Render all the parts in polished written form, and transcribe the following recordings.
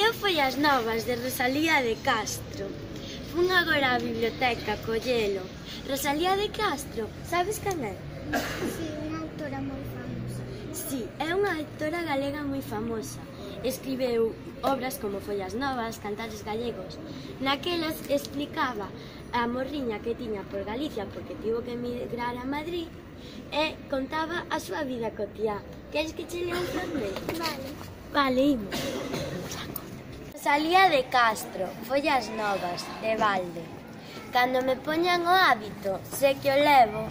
Leo Follas Novas de Rosalía de Castro. Fun agora á biblioteca a collelo. Rosalía de Castro, sabes quen é? Si, unha autora moi famosa. Si, é unha autora galega moi famosa. Escribeu obras como Follas Novas, Cantares Gallegos. Naquelas explicaba a morriña que tiña por Galicia porque tivo que emigrar a Madrid e contaba a súa vida cotiá. Queres que che lea un fragmento? Vale. Vale, imos. Rosalía de Castro, Follas Novas, de balde. Cando me poñan o hábito, sé que o levo.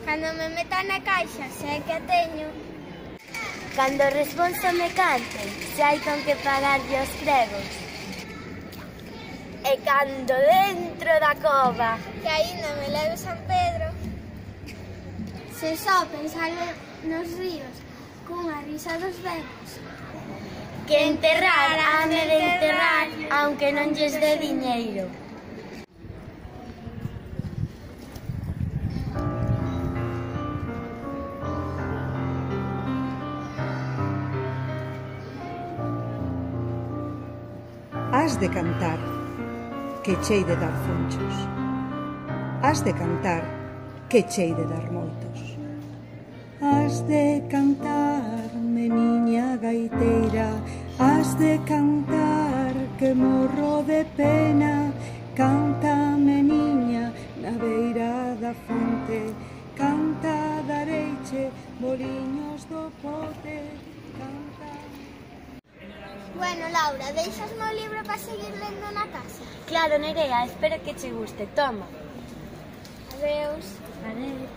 Cando me meta na caixa, sei que a teño. Cando o responso me cante, se hai con que pagarlle os pregos. E cando dentro da cova, Que aínda me leve San Pedro. Se só pensar nos ríos, cunha risa dos ventos. que enterrar hame de enterrar, aunque non lles dé diñeiro. Has de cantar, que chei de dar fonchos. Has de cantar, que chei de dar moitos. Has de cantar, meniña gaiteira. Has de cantar, que morro de pena. Canta, meniña, na beira da fonte. Canta, dareiche, boliños do pote. Canta... Bueno, Laura, deixasme o libro para seguir lendo na casa? Claro, Nerea, espero que che guste. Toma. Adeus. Adeus.